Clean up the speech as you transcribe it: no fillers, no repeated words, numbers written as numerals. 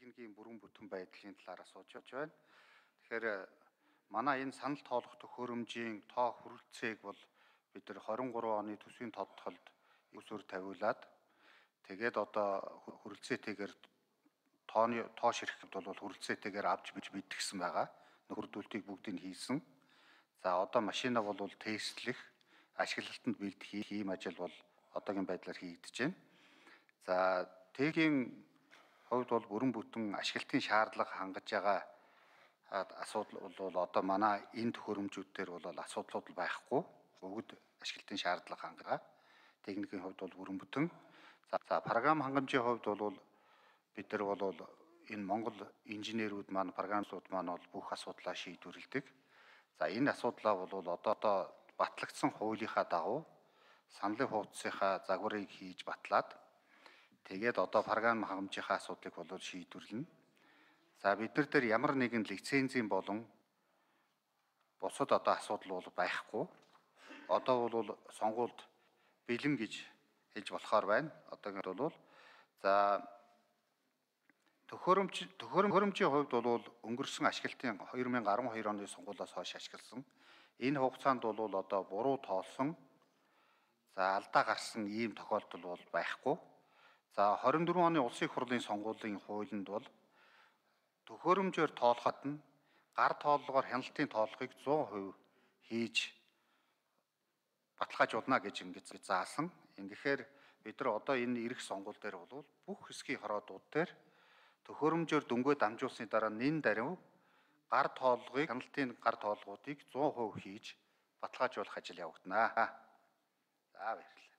техникийн бүрэн бүтэн байдлын талаар асууж байна. Тэгэхээр манай энэ санал тоолох төхөөрөмжийн тоо хүрэлцээг бол бид нар 23 оны төсвийн тодтолд өсвөр тавиулаад тэгээд одоо хүрэлцээтэйгээр тооны тоо ширхэхэд бол хүрэлцээтэйгээр авч биж мэдгсэн байгаа. Нөхөрдүүлтийг бүгдийг хийсэн. За одоо машина бол тестлэх, ашиглалтанд бэлдэх ийм ажил бол одоогийн байдлаар хийгдэж байна. За тэгийн хувьд бол бүрэн бүтэн ашиглалтын шаардлага хангаж байгаа асуудал бол одоо манай энэ төхөөрөмжүүд дээр бол асуудлууд байхгүй. Бүгд ашиглалтын шаардлага хангаа. Техникийн хувьд бол бүрэн бүтэн. За програм хангамжийн хувьд бол бид нар бол энэ Монгол инженерүүд маань, програмчлууд маань бол бүх асуудлаа шийдвэрлэдэг. За энэ асуудлаа бол одоо батлагдсан хуулийнхаа дагуу саналын хуудасынхаа загварыг хийж батлаад тэгээд одоо програм хангамжийнхаа асуудлыг бол шийдвэрлэнэ. За бид нар дээр ямар нэгэн лицензийн болон бусад одоо асуудал бол байхгүй. Одоо бол сонгуульд бэлэн гэж хэлж болохоор байна. Одоогийн бол за төхөөрөмжийн хувьд бол өнгөрсөн ашиглалтын 2012 оны сонгуулиас хойш ашигласан. Энэ хугацаанд бол одоо буруу тоолсон, за алдаа гарсан ийм тохиолдол бол байхгүй. За 24 оны улсын их хурлын сонгуулийн хуулинд бол төхөөрөмжөөр тоолоход нь гар тооллогоор хяналтын тооллогыг 100% хийж баталгаажуулна гэж ингэж заасан. Ингэхээр бид нар одоо энэ ирэх сонгуул дээр бол бүх хэсгийн хороодууд дээр төхөөрөмжөөр дөнгөө дамжуулсны дараа нэн даруй гар тооллогыг, хяналтын гар тооллогуудыг 100% хийж баталгаажуулах ажил явагдана. За баярлалаа.